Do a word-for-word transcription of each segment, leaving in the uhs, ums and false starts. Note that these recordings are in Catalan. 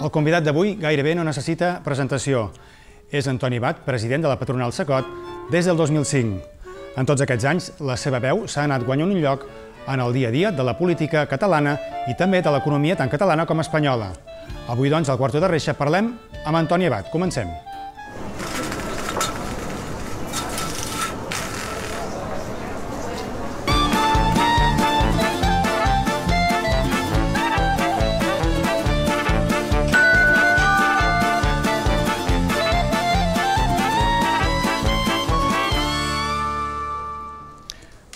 El convidat d'avui gairebé no necessita presentació. És Antoni Abat, president de la patronal Cecot, des del dos mil cinc. En tots aquests anys, la seva veu s'ha anat guanyant un lloc en el dia a dia de la política catalana i també de l'economia tant catalana com espanyola. Avui, doncs, al Quarto de Reixa parlem amb Antoni Abat. Comencem.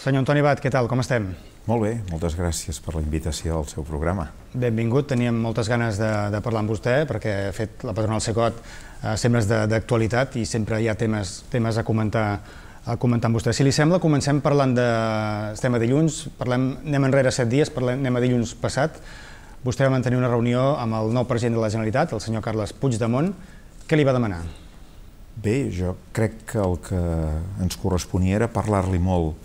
Senyor Antoni Abat, què tal? Com estem? Molt bé, moltes gràcies per la invitació al seu programa. Benvingut, teníem moltes ganes de, de parlar amb vostè perquè ha fet la patronal Cecot eh, sempre és d'actualitat i sempre hi ha temes, temes a, comentar, a comentar amb vostè. Si li sembla, comencem parlant de... Estem a dilluns, parlem, anem enrere set dies, parlem, anem a dilluns passat. Vostè va mantenir una reunió amb el nou president de la Generalitat, el senyor Carles Puigdemont. Què li va demanar? Bé, jo crec que el que ens corresponia era parlar-li molt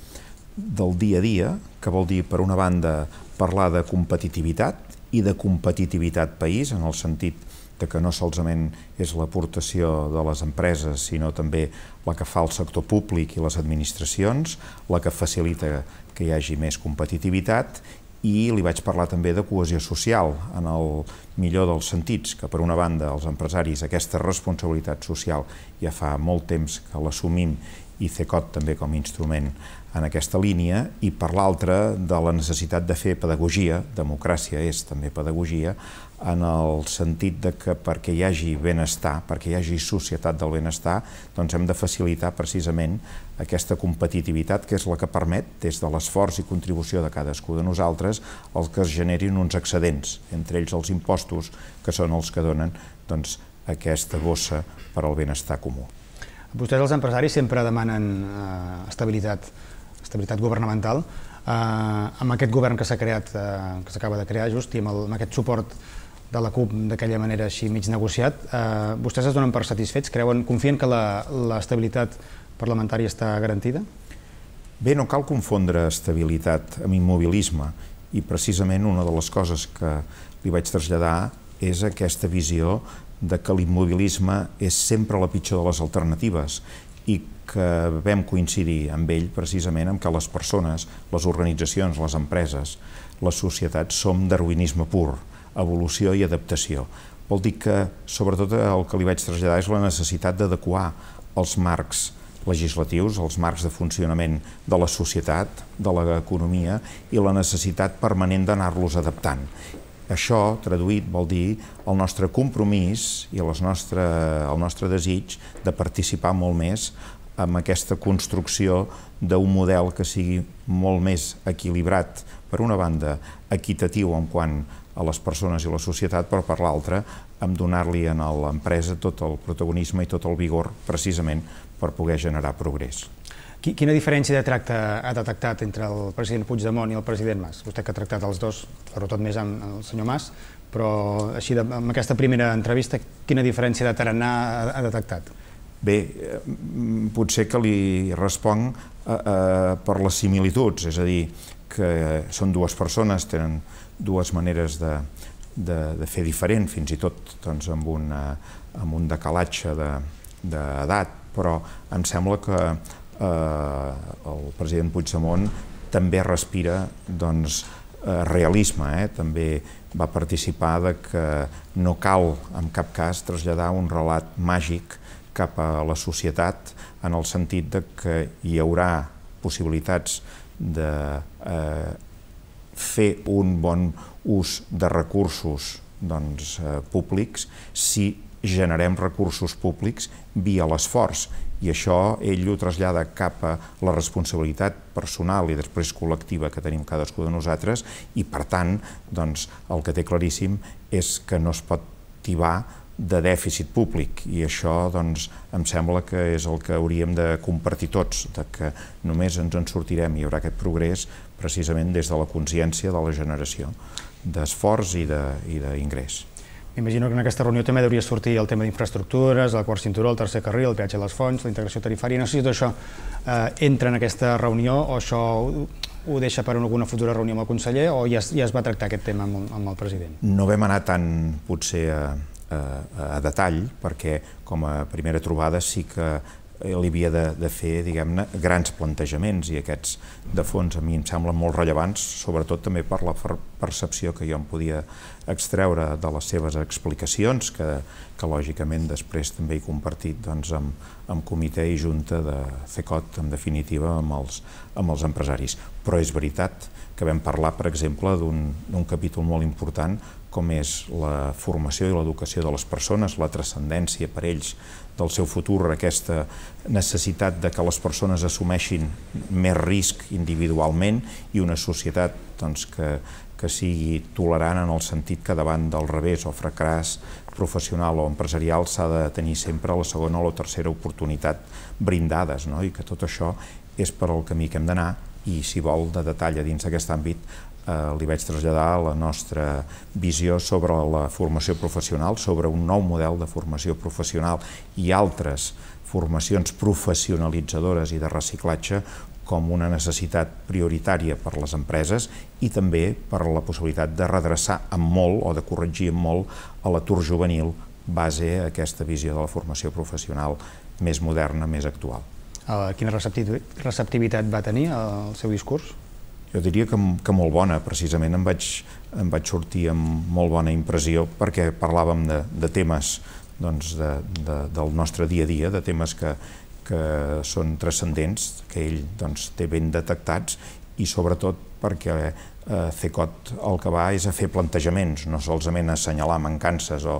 del dia a dia, que vol dir, per una banda, parlar de competitivitat i de competitivitat país, en el sentit de que no solament és l'aportació de les empreses, sinó també la que fa el sector públic i les administracions, la que facilita que hi hagi més competitivitat, i li vaig parlar també de cohesió social, en el millor dels sentits, que per una banda els empresaris aquesta responsabilitat social ja fa molt temps que l'assumim i Cecot també com a instrument en aquesta línia, i per l'altra de la necessitat de fer pedagogia, democràcia és també pedagogia, en el sentit de que perquè hi hagi benestar, perquè hi hagi societat del benestar, doncs hem de facilitar precisament aquesta competitivitat que és la que permet, des de l'esforç i contribució de cadascú de nosaltres, el que es generin uns excedents, entre ells els impostos, que són els que donen doncs, aquesta bossa per al benestar comú. Vostès, els empresaris, sempre demanen eh, estabilitat, estabilitat governamental. Eh, amb aquest govern que s'ha creat, eh, que s'acaba de crear just, i amb, el, amb aquest suport de la CUP d'aquella manera així mig negociat, eh, vostès es donen per satisfets? Creuen, confien que l'estabilitat parlamentària està garantida? Bé, no cal confondre estabilitat amb immobilisme, i precisament una de les coses que li vaig traslladar és aquesta visió de que l'immobilisme és sempre la pitjor de les alternatives i que vam coincidir amb ell precisament amb que les persones, les organitzacions, les empreses, les societats som darwinisme pur, evolució i adaptació. Vol dir que, sobretot, el que li vaig traslladar és la necessitat d'adequar els marcs legislatius, els marcs de funcionament de la societat, de l'economia, i la necessitat permanent d'anar-los adaptant. Això, traduït, vol dir el nostre compromís i el nostre, el nostre desig de participar molt més en aquesta construcció d'un model que sigui molt més equilibrat, per una banda, equitatiu en quant a les persones i la societat, però per l'altra, en donar-li a l'empresa tot el protagonisme i tot el vigor, precisament, per poder generar progrés. Quina diferència de tracte ha detectat entre el president Puigdemont i el president Mas? Vostè que ha tractat els dos, sobretot més amb el senyor Mas, però així, amb aquesta primera entrevista, quina diferència de tarannà ha detectat? Bé, potser que li responc per les similituds, és a dir, que són dues persones, tenen dues maneres de fer diferent, fins i tot amb un decalatge d'edat, però em sembla que el president Puigdemont també respira realisme, també va participar que no cal en cap cas traslladar un relat màgic cap a la societat en el sentit que hi haurà possibilitats de fer un bon ús de recursos públics si generem recursos públics via l'esforç, i això ell ho trasllada cap a la responsabilitat personal i després col·lectiva que tenim cadascú de nosaltres, i per tant el que té claríssim és que no es pot tibar de dèficit públic, i això em sembla que és el que hauríem de compartir tots, que només ens en sortirem i hi haurà aquest progrés precisament des de la consciència de la generació d'esforç i d'ingrés. M'imagino que en aquesta reunió també hauria sortir el tema d'infraestructures, el quart cinturó, el tercer carril, el peatge a les fonts, la integració tarifària. No sé si tot això entra en aquesta reunió o això ho deixa per alguna futura reunió amb el conseller o ja es, ja es va tractar aquest tema amb, amb el president? No vam anar tant, potser, a, a, a detall, perquè com a primera trobada sí que li havia de, de fer, diguem-ne, grans plantejaments, i aquests de fons a mi em semblen molt rellevants, sobretot també per la percepció que jo em podia extreure de les seves explicacions, que, que lògicament després també he compartit doncs, amb, amb comitè i junta de CECOT, en definitiva, amb els, amb els empresaris. Però és veritat que vam parlar, per exemple, d'un capítol molt important com és la formació i l'educació de les persones, la transcendència per ells del seu futur, aquesta necessitat de que les persones assumeixin més risc individualment i una societat doncs, que, que sigui tolerant en el sentit que davant del revés o fracàs professional o empresarial s'ha de tenir sempre la segona o la tercera oportunitat brindades, no? I que tot això és per al camí que hem d'anar, i si vol de detall a dins d'aquest àmbit eh, li vaig traslladar la nostra visió sobre la formació professional, sobre un nou model de formació professional i altres formacions professionalitzadores i de reciclatge com una necessitat prioritària per a les empreses i també per la possibilitat de redreçar amb molt o de corregir amb molt a l'atur juvenil base a aquesta visió de la formació professional més moderna, més actual. Quina receptivitat va tenir el seu discurs? Jo diria que, que molt bona, precisament em vaig, em vaig sortir amb molt bona impressió perquè parlàvem de, de temes doncs, de, de, del nostre dia a dia, de temes que, que són transcendents, que ell doncs, té ben detectats i sobretot perquè eh, CECOT el que va és a fer plantejaments, no solament a assenyalar mancances o,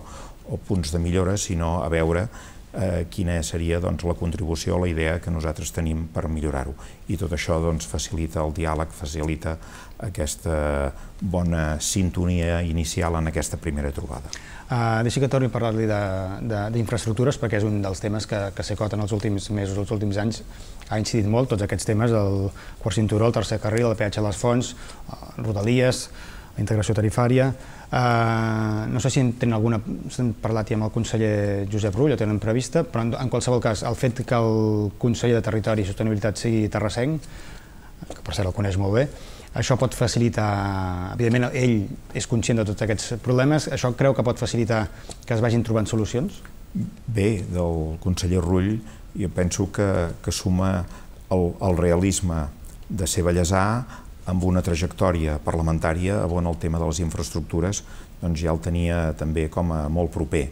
o punts de millora, sinó a veure Eh, quina seria doncs, la contribució o la idea que nosaltres tenim per millorar-ho. I tot això doncs, facilita el diàleg, facilita aquesta bona sintonia inicial en aquesta primera trobada. Uh, deixi que torni a parlar-li d'infraestructures, perquè és un dels temes que, que CECOT en els últims mesos, els últims anys, ha incidit molt, tots aquests temes, el quart cinturó, el tercer carril, el peatge a les fonts, Rodalies, la integració tarifària. Uh, no sé si en tenen alguna, s'han parlat ja amb el conseller Josep Rull, o tenen prevista, però en, en qualsevol cas, el fet que el conseller de Territori i Sostenibilitat sigui terrassenc, que per cert el coneix molt bé, això pot facilitar, evidentment ell és conscient de tots aquests problemes, això creu que pot facilitar que es vagin trobant solucions? Bé, del conseller Rull jo penso que, que suma el, el realisme de ser ballesà amb una trajectòria parlamentària on el tema de les infraestructures doncs ja el tenia també com a molt proper.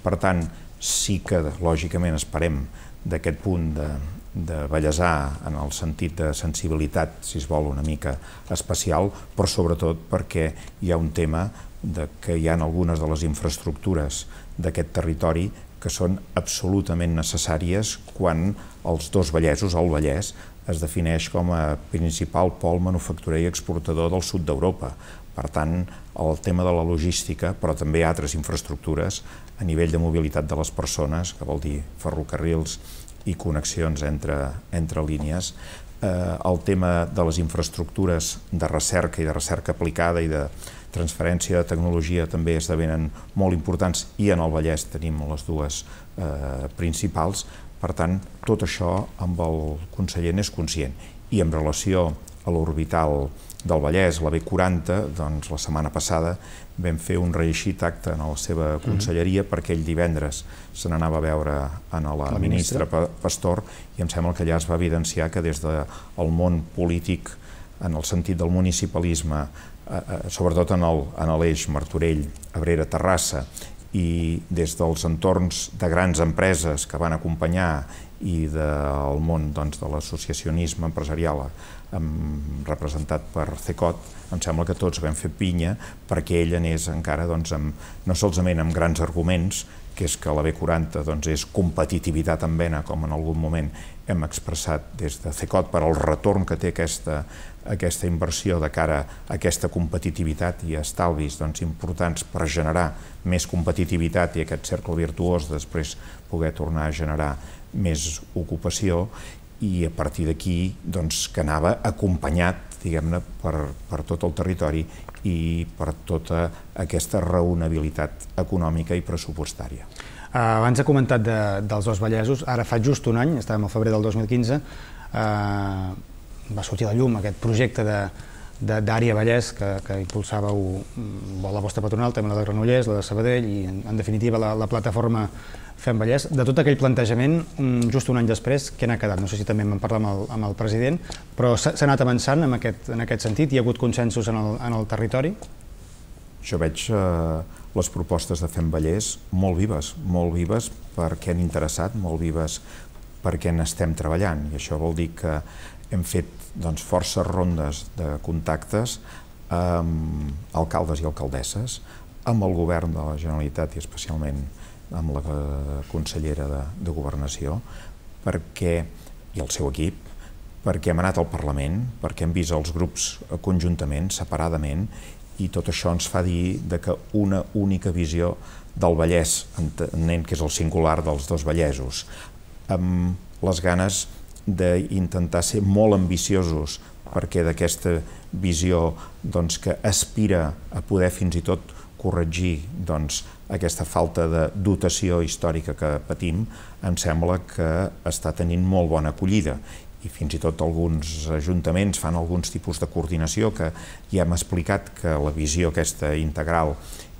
Per tant, sí que lògicament esperem d'aquest punt de, de ballesà en el sentit de sensibilitat, si es vol, una mica especial, però sobretot perquè hi ha un tema de que hi ha algunes de les infraestructures d'aquest territori que són absolutament necessàries quan els dos Vallesos, el Vallès, es defineix com a principal pol manufacturer i exportador del sud d'Europa. Per tant, el tema de la logística, però també altres infraestructures a nivell de mobilitat de les persones, que vol dir ferrocarrils i connexions entre, entre línies, eh, el tema de les infraestructures de recerca i de recerca aplicada i de transferència de tecnologia també esdevenen molt importants i en el Vallès tenim les dues eh, principals. Per tant, tot això amb el conseller n'és conscient. I en relació a l'orbital del Vallès, la B quaranta, doncs la setmana passada vam fer un reeixit acte en la seva conselleria perquè ell divendres se n'anava a veure a la ministra Pastor i em sembla que allà es va evidenciar que des del món polític, en el sentit del municipalisme, sobretot en l'eix Martorell, Abrera, Terrassa, i des dels entorns de grans empreses que van acompanyar i del món de l'associacionisme empresarial representat per CECOT, em sembla que tots vam fer pinya perquè ell anés encara no solament amb grans arguments, que és que la B quaranta és competitivitat en vena, com en algun moment hem expressat des de CECOT, per al retorn que té aquesta inversió de cara a aquesta competitivitat i estalvis importants per generar més competitivitat i aquest cercle virtuós després poder tornar a generar més ocupació, i a partir d'aquí que anava acompanyat, diguem-ne, per tot el territori i per tota aquesta raonabilitat econòmica i pressupostària. Abans ha comentat dels dos Vallesos, ara fa just un any, estàvem al febrer del dos mil quinze, va sortir a la llum aquest projecte d'Àrea Vallès que impulsàveu la vostra patronal, també la de Granollers, la de Sabadell i en definitiva la plataforma Fem Vallès. De tot aquell plantejament, just un any després, què n'ha quedat? No sé si també en vam parlar amb el president, però s'ha anat avançant en aquest sentit? Hi ha hagut consensos en el territori? Jo veig les propostes de Fem Vallès molt vives, molt vives perquè han interessat, molt vives perquè n'estem treballant, i això vol dir que hem fet forces rondes de contactes amb alcaldes i alcaldesses, amb el govern de la Generalitat i especialment amb la consellera de Governació, i el seu equip, perquè hem anat al Parlament, perquè hem vist els grups conjuntament, separadament, i tot això ens fa dir que una única visió del Vallès, entenent que és el singular dels dos Vallesos, amb les ganes d'intentar ser molt ambiciosos perquè d'aquesta visió que aspira a poder fins i tot corregir aquesta falta de dotació històrica que patim, em sembla que està tenint molt bona acollida. I fins i tot alguns ajuntaments fan alguns tipus de coordinació que ja hem explicat que la visió aquesta integral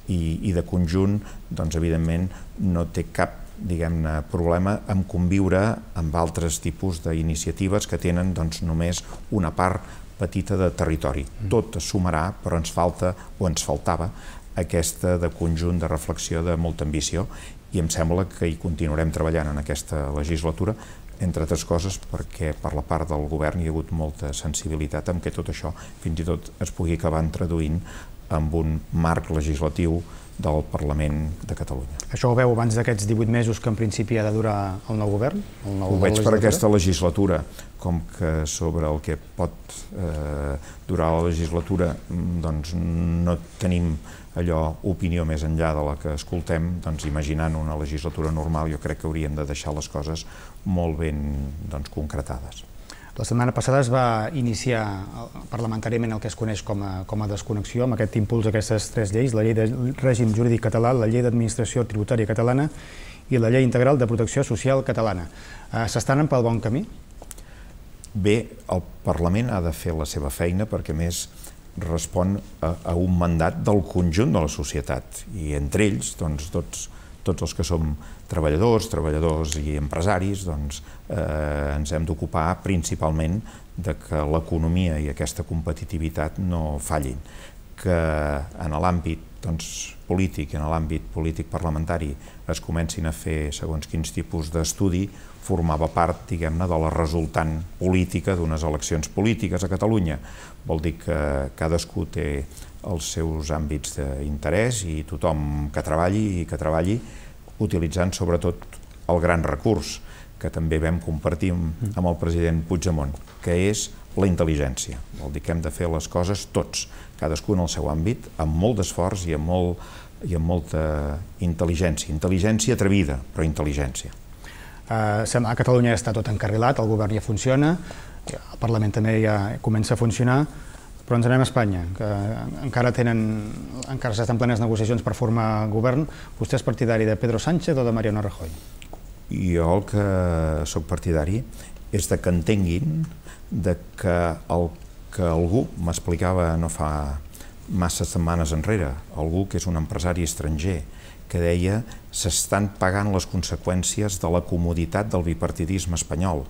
i de conjunt, doncs evidentment no té cap diguem-ne, problema en conviure amb altres tipus d'iniciatives que tenen només una part petita de territori. Tot es sumarà, però ens falta, o ens faltava, aquesta de conjunt de reflexió de molta ambició, i em sembla que hi continuarem treballant en aquesta legislatura, entre altres coses perquè per la part del govern hi ha hagut molta sensibilitat en què tot això fins i tot es pugui acabar traduint amb un marc legislatiu del Parlament de Catalunya. Això ho veu abans d'aquests divuit mesos que en principi ha de durar el nou govern? Ho veig per aquesta legislatura, com que sobre el que pot durar la legislatura no tenim allò opinió més enllà de la que escoltem, doncs imaginant una legislatura normal jo crec que hauríem de deixar les coses molt ben concretades. La setmana passada es va iniciar parlamentàriament el que es coneix com a desconnexió, amb aquest impuls d'aquestes tres lleis, la llei de règim jurídic català, la llei d'administració tributària catalana i la llei integral de protecció social catalana. S'estan pel bon camí? Bé, el Parlament ha de fer la seva feina perquè, a més, respon a un mandat del conjunt de la societat i entre ells, doncs, tots els que som treballadors, treballadors i empresaris, doncs ens hem d'ocupar principalment de que l'economia i aquesta competitivitat no fallin, que en l'àmbit polític, en l'àmbit polític parlamentari es comencin a fer segons quins tipus d'estudi, formava part, diguem-ne, de la resultant política d'unes eleccions polítiques a Catalunya. Vol dir que cadascú té els seus àmbits d'interès i tothom que treballi i que treballi utilitzant sobretot el gran recurs que també vam compartir amb el president Puigdemont, que és la intel·ligència. Vol dir que hem de fer les coses tots, cadascú en el seu àmbit, amb molt d'esforç i amb molta intel·ligència. Intel·ligència atrevida, però intel·ligència. A Catalunya ja està tot encarrilat, el govern ja funciona, el Parlament també ja comença a funcionar, però ens anem a Espanya, que encara tenen, encara s'estan plenes negociacions per formar govern. Vostè és partidari de Pedro Sánchez o de Mariano Rajoy? Jo el que soc partidari és que entenguin que el que algú m'explicava no fa massa setmanes enrere, algú que és un empresari estranger, que deia s'estan pagant les conseqüències de la comoditat del bipartidisme espanyol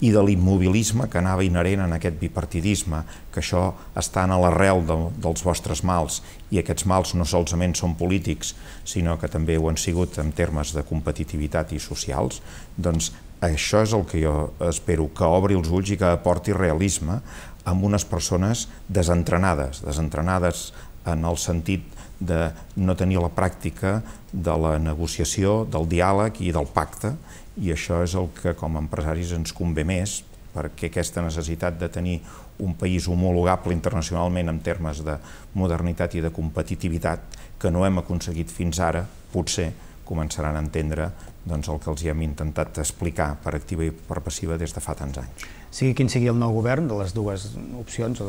i de l'immobilisme que anava inherent en aquest bipartidisme, que això està a l'arrel dels vostres mals, i aquests mals no solament són polítics, sinó que també ho han sigut en termes de competitivitat i socials, doncs això és el que jo espero, que obri els ulls i que aporti realisme amb unes persones desentrenades, desentrenades en el sentit de no tenir la pràctica de la negociació, del diàleg i del pacte, i això és el que com a empresaris ens convé més, perquè aquesta necessitat de tenir un país homologable internacionalment en termes de modernitat i de competitivitat que no hem aconseguit fins ara, potser començaran a entendre el que els hem intentat explicar per activa i per passiva des de fa tants anys. Sigui quin sigui el nou govern, de les dues opcions,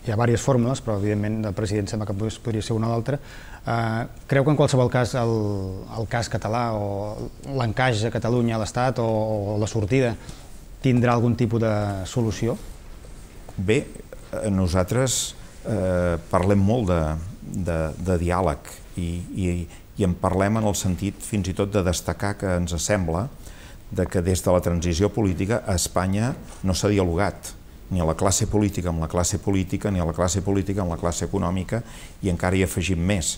hi ha diverses fórmules, però evidentment el president sembla que podria ser una o l'altra. Creu que en qualsevol cas el cas català o l'encaix a Catalunya a l'Estat o la sortida tindrà algun tipus de solució? Bé, nosaltres eh, parlem molt de, de, de diàleg i, i, i en parlem en el sentit fins i tot de destacar que ens sembla de que des de la transició política a Espanya no s'ha dialogat ni a la classe política amb la classe política, ni a la classe política amb la classe econòmica, i encara hi afegim més.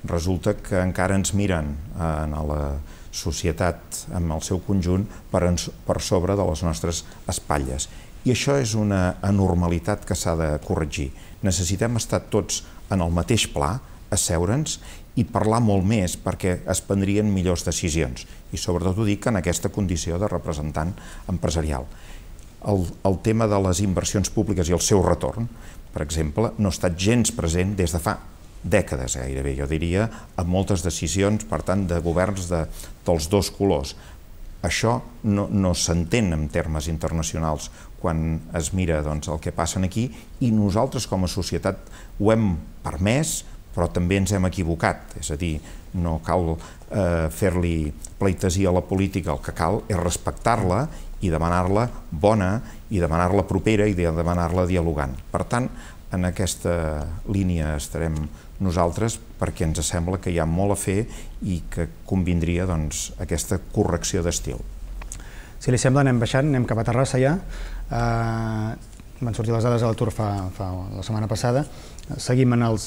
Resulta que encara ens miren en la societat en el seu conjunt per, per sobre de les nostres espatlles. I això és una anormalitat que s'ha de corregir. Necessitem estar tots en el mateix pla, asseure'ns i parlar molt més perquè es prendrien millors decisions. I sobretot ho dic en aquesta condició de representant empresarial. El, el tema de les inversions públiques i el seu retorn, per exemple, no ha estat gens present des de fa dècades gairebé, jo diria, amb moltes decisions, per tant, de governs de, dels dos colors. Això no, no s'entén en termes internacionals quan es mira doncs, el que passa aquí, i nosaltres com a societat ho hem permès, però també ens hem equivocat. És a dir, no cal eh, fer-li pleitesia a la política, el que cal és respectar-la i demanar-la bona, i demanar-la propera, i demanar-la dialogant. Per tant, en aquesta línia estarem nosaltres perquè ens sembla que hi ha molt a fer i que convindria doncs, aquesta correcció d'estil. Si li sembla, anem baixant, anem cap a Terrassa ja. Eh, van sortir les dades a l'atur fa, fa la setmana passada. Seguim en els,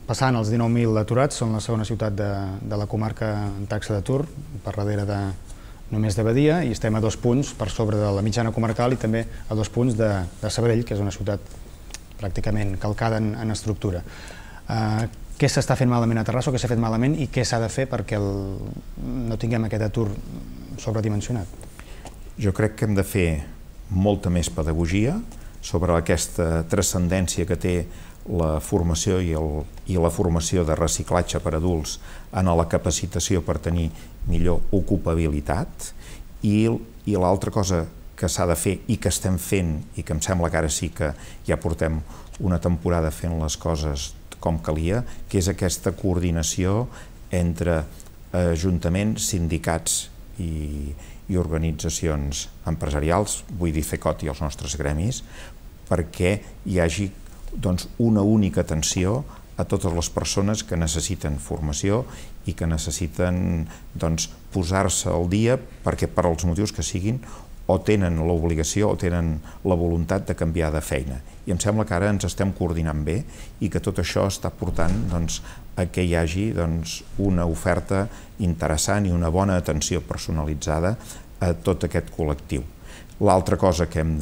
passant els dinou mil aturats, són la segona ciutat de, de la comarca en taxa d'atur, per darrere de només de Badia, i estem a dos punts per sobre de la mitjana comarcal i també a dos punts de, de Sabadell, que és una ciutat pràcticament calcada en, en estructura. Uh, què s'està fent malament a Terrassa o què s'ha fet malament i què s'ha de fer perquè el, no tinguem aquest atur sobredimensionat? Jo crec que hem de fer molta més pedagogia sobre aquesta transcendència que té la formació i, el, i la formació de reciclatge per adults en la capacitació per tenir millor ocupabilitat, i, i l'altra cosa que s'ha de fer i que estem fent i que em sembla que ara sí que ja portem una temporada fent les coses com calia, que és aquesta coordinació entre ajuntaments, sindicats i, i organitzacions empresarials, vull dir FECOT i els nostres gremis, perquè hi hagi doncs, una única atenció a totes les persones que necessiten formació i que necessiten doncs, posar-se al dia perquè per als motius que siguin o tenen l'obligació o tenen la voluntat de canviar de feina. I em sembla que ara ens estem coordinant bé i que tot això està portant doncs, a que hi hagi doncs, una oferta interessant i una bona atenció personalitzada a tot aquest col·lectiu. L'altra cosa que hem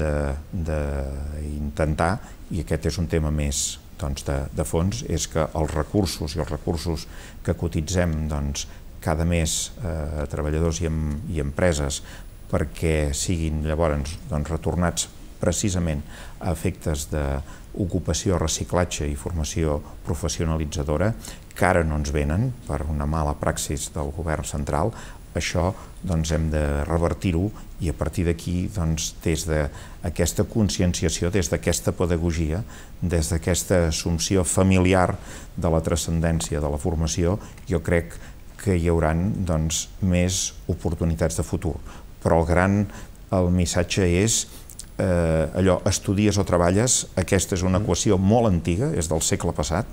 d'intentar, i aquest és un tema més doncs, de, de fons, és que els recursos i els recursos que cotitzem doncs, cada mes a eh, treballadors i, em, i empreses perquè siguin llavors doncs, retornats precisament a efectes d'ocupació, reciclatge i formació professionalitzadora, que ara no ens venen per una mala praxis del govern central. Això doncs, hem de revertir-ho i a partir d'aquí, doncs, des d'aquesta conscienciació, des d'aquesta pedagogia, des d'aquesta assumpció familiar de la transcendència de la formació, jo crec que hi haurà doncs, més oportunitats de futur. Però el gran el missatge és eh, allò, estudies o treballes, aquesta és una equació molt antiga, és del segle passat,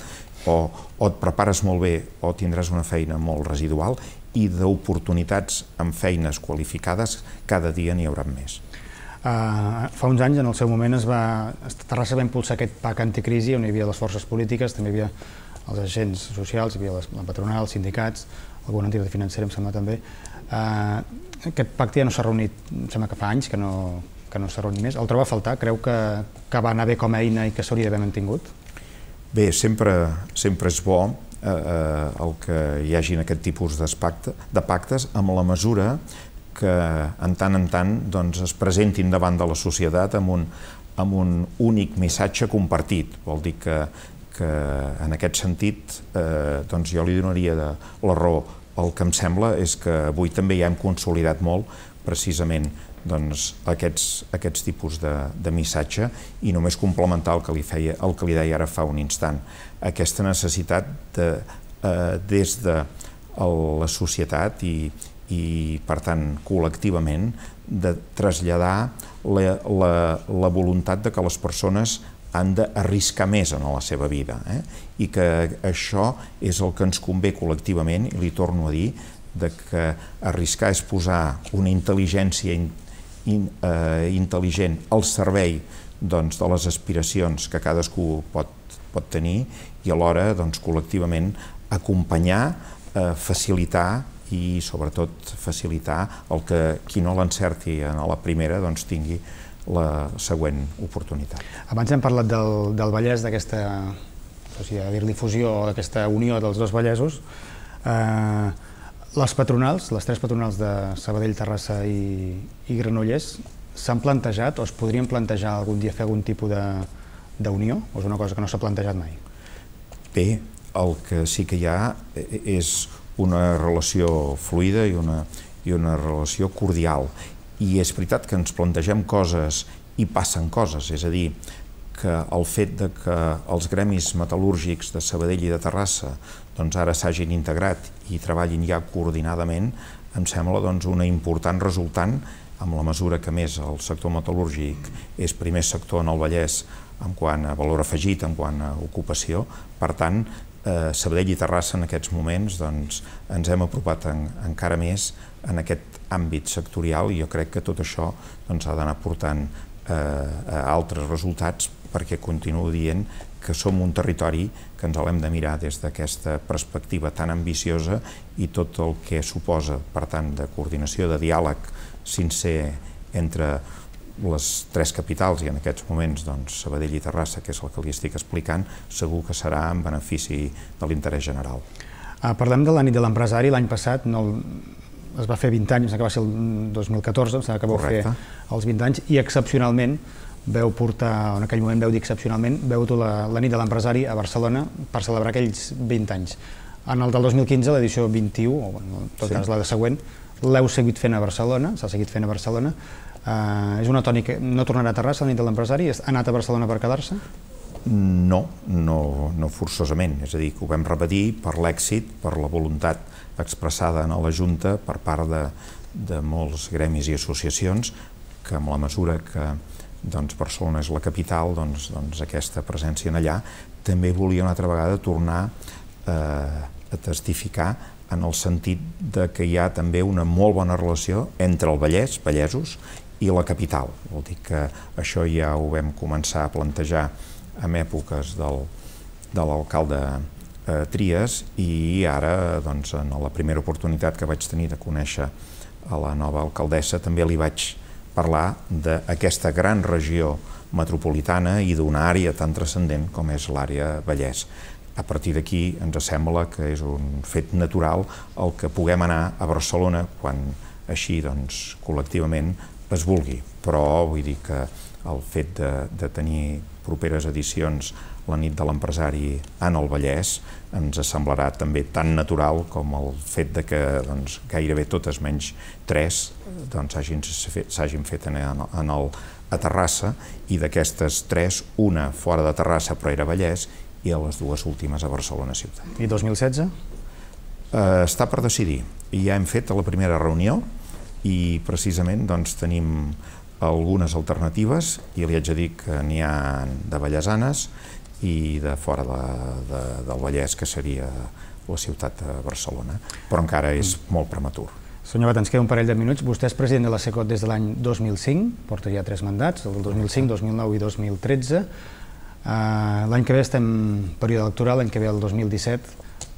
o, o et prepares molt bé o tindràs una feina molt residual, i d'oportunitats amb feines qualificades cada dia n'hi haurà més. Uh, fa uns anys, en el seu moment, es va, Terrassa va impulsar aquest PAC anticrisi on hi havia les forces polítiques, també hi havia els agents socials, hi havia les, la patronal, els sindicats, alguna entitat financera, em sembla també. Uh, aquest pacte ja no s'ha reunit, em sembla que fa anys que no, que no s'ha reunit més. El troba a faltar? Creu que, que va anar bé com a eina i que s'hauria d'haver mantingut? Bé, sempre, sempre és bo eh, el que hi hagin aquest tipus de pactes amb la mesura que en tant en tant doncs, es presentin davant de la societat amb un, amb un únic missatge compartit. Vol dir que, que en aquest sentit eh, doncs jo li donaria de, la raó. El que em sembla és que avui també ja hem consolidat molt precisament doncs, aquests, aquests tipus de, de missatge i només complementar el que li feia, el que li deia ara fa un instant. Aquesta necessitat de, eh, des de la societat i, i, per tant, col·lectivament, de traslladar la, la, la voluntat de que les persones han d'arriscar més en la seva vida, eh? I que això és el que ens convé col·lectivament, i li torno a dir, de que arriscar és posar una intel·ligència in, in, eh, intel·ligent al servei doncs, de les aspiracions que cadascú pot, pot tenir i alhora doncs, col·lectivament acompanyar, eh, facilitar i sobretot facilitar el que qui no l'encerti a la primera doncs, tingui la següent oportunitat. Abans hem parlat del, del Vallès, d'aquesta, no sé, dir-li fusió o d'aquesta unió dels dos Vallesos. Eh, les patronals, les tres patronals de Sabadell, Terrassa i, i Granollers, s'han plantejat o es podrien plantejar algun dia fer algun tipus d'unió o és una cosa que no s'ha plantejat mai? Bé, el que sí que hi ha és una relació fluida i una, i una relació cordial. I és veritat que ens plantegem coses i passen coses, és a dir, que el fet de que els gremis metal·lúrgics de Sabadell i de Terrassa doncs ara s'hagin integrat i treballin ja coordinadament, em sembla doncs, una important resultant amb la mesura que més el sector metal·lúrgic és primer sector en el Vallès en quant a valor afegit, en quant a ocupació. Per tant, eh, Sabadell i Terrassa en aquests moments doncs, ens hem apropat en, encara més en aquest àmbit sectorial i jo crec que tot això doncs, ha d'anar portant eh, a altres resultats perquè continuo dient que som un territori que ens l'hem de mirar des d'aquesta perspectiva tan ambiciosa i tot el que suposa, per tant, de coordinació, de diàleg sincer entre les tres capitals i en aquests moments doncs, Sabadell i Terrassa, que és el que li estic explicant, segur que serà en benefici de l'interès general. Ah, parlem de la nit de l'empresari. L'any passat no, es va fer vint anys, que va ser el dos mil catorze, em sembla que vau fer els vint anys, i excepcionalment veu portar, en aquell moment veu dir excepcionalment, veu dur la, la nit de l'empresari a Barcelona per celebrar aquells vint anys. En el del dos mil quinze, l'edició vint-i-u, o bueno, en tot sí. cas la de següent, l'heu seguit fent a Barcelona, s'ha seguit fent a Barcelona. Uh, és una tònica, no tornarà a Terrassa la nit de l'empresari? Ha anat a Barcelona per quedar-se? No, no, no forçosament, és a dir, que ho vam repetir per l'èxit, per la voluntat expressada en la Junta per part de, de molts gremis i associacions que amb la mesura que doncs, Barcelona és la capital, doncs, doncs aquesta presència en allà també volia una altra vegada tornar eh, a testificar en el sentit de que hi ha també una molt bona relació entre el Vallès, vallesos, i la capital. Vol dir que això ja ho vam començar a plantejar en èpoques del, de l'alcalde eh, Trias i ara, doncs, en la primera oportunitat que vaig tenir de conèixer a la nova alcaldessa també li vaig parlar d'aquesta gran regió metropolitana i d'una àrea tan transcendent com és l'àrea Vallès. A partir d'aquí ens sembla que és un fet natural el que puguem anar a Barcelona quan així doncs, col·lectivament es vulgui, però vull dir que el fet de, de tenir properes edicions la nit de l'empresari en el Vallès ens semblarà també tan natural com el fet de que doncs, gairebé totes menys tres doncs, s'hagin fet, fet en, en el, a Terrassa i d'aquestes tres, una fora de Terrassa però era Vallès i a les dues últimes a Barcelona ciutat. I dos mil setze? Eh, està per decidir. Ja hem fet la primera reunió i precisament doncs, tenim algunes alternatives i li haig de dir que n'hi ha de vallesanes i de fora de, de, del Vallès, que seria la ciutat de Barcelona, però encara és molt prematur. Senyor Bat, ens queda un parell de minuts. Vostè és president de la SECOT des de l'any dos mil cinc, porta ja tres mandats, el del dos mil cinc, dos mil nou i dos mil tretze. Uh, l'any que ve estem en període electoral, l'any que ve el dos mil disset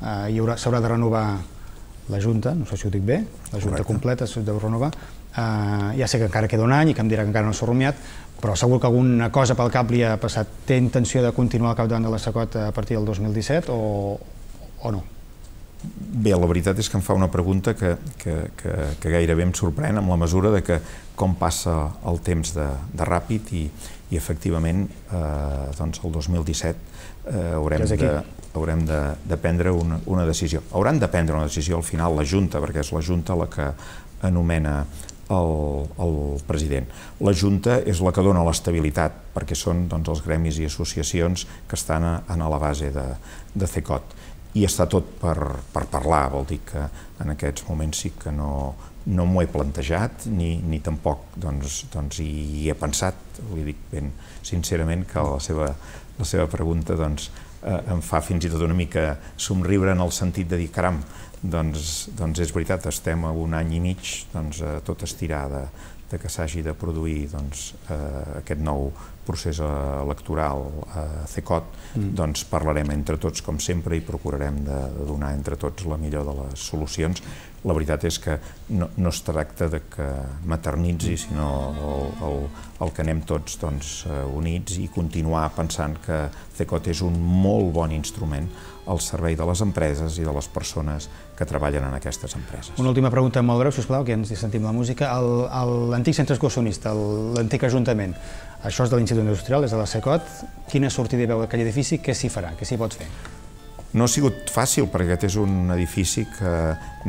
uh, s'haurà de renovar la Junta, no sé si ho dic bé, la Junta Correcte. Completa s'ha de renovar. Uh, ja sé que encara queda un any i que em dirà que encara no s'ha rumiat, però segur que alguna cosa pel cap li ha passat. Té intenció de continuar al capdavant de la SECOT a partir del dos mil disset o, o no? Bé, la veritat és que em fa una pregunta que, que, que, que gairebé em sorprèn amb la mesura de que com passa el temps de, de ràpid i, i efectivament eh, doncs el dos mil disset eh, haurem, de, haurem de, de prendre una, una decisió. Hauran de prendre una decisió al final la Junta, perquè és la Junta la que anomena el, el president. La Junta és la que dona l'estabilitat, perquè són doncs, els gremis i associacions que estan a, a la base de, de CECOT. i està tot per, per parlar, vol dir que en aquests moments sí que no, no m'ho he plantejat ni, ni tampoc doncs, doncs hi he pensat. Li dic ben sincerament que la seva, la seva pregunta doncs, eh, em fa fins i tot una mica somriure en el sentit de dir caram, doncs, doncs és veritat, estem a un any i mig doncs, a tot estirar de, de que s'hagi de produir doncs, eh, aquest nou procés electoral a CECOT, mm. doncs parlarem entre tots com sempre i procurarem de, de donar entre tots la millor de les solucions. La veritat és que no, no es tracta de que maternitzi, sinó el, el, el que anem tots doncs, units i continuar pensant que CECOT és un molt bon instrument al servei de les empreses i de les persones que treballen en aquestes empreses. Una última pregunta molt breu, sisplau, que ens sentim la música. L'antic centre excursionista, l'antic ajuntament, això és de l'Institut Industrial, és de la CECOT. Quina sortida hi veu aquell edifici? Què s'hi farà? Què s'hi pot fer? No ha sigut fàcil, perquè aquest és un edifici que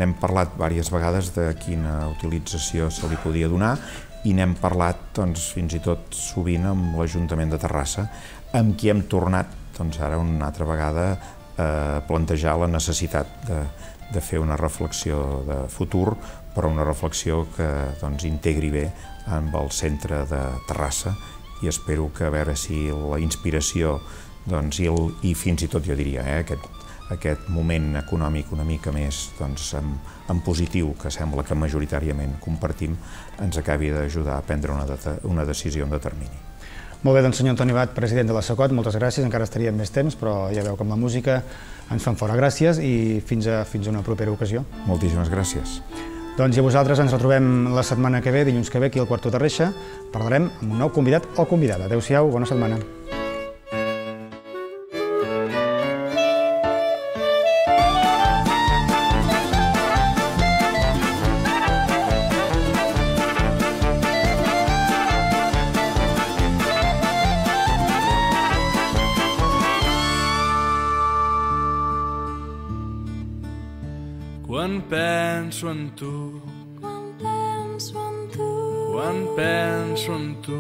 n'hem parlat diverses vegades de quina utilització se li podia donar i n'hem parlat doncs, fins i tot sovint amb l'Ajuntament de Terrassa, amb qui hem tornat doncs, ara una altra vegada a plantejar la necessitat de, de fer una reflexió de futur, però una reflexió que doncs, integri bé amb el centre de Terrassa i espero que a veure si la inspiració doncs, i, el, i fins i tot jo diria eh, aquest, aquest moment econòmic una mica més doncs, en, en positiu que sembla que majoritàriament compartim ens acabi d'ajudar a prendre una, de, una decisió en de termini. Molt bé, doncs senyor Antoni Bat, president de la CECOT, moltes gràcies, encara estaríem més temps, però ja veu que amb la música ens fan fora. Gràcies i fins a, fins a una propera ocasió. Moltíssimes gràcies. Doncs i a vosaltres ens retrobem la setmana que ve, dilluns que ve, aquí al Quarto de Reixa. Parlarem amb un nou convidat o convidada. Adéu-siau, bona setmana. Quan penso en tu, Quan penso en tu, quan penso en tu,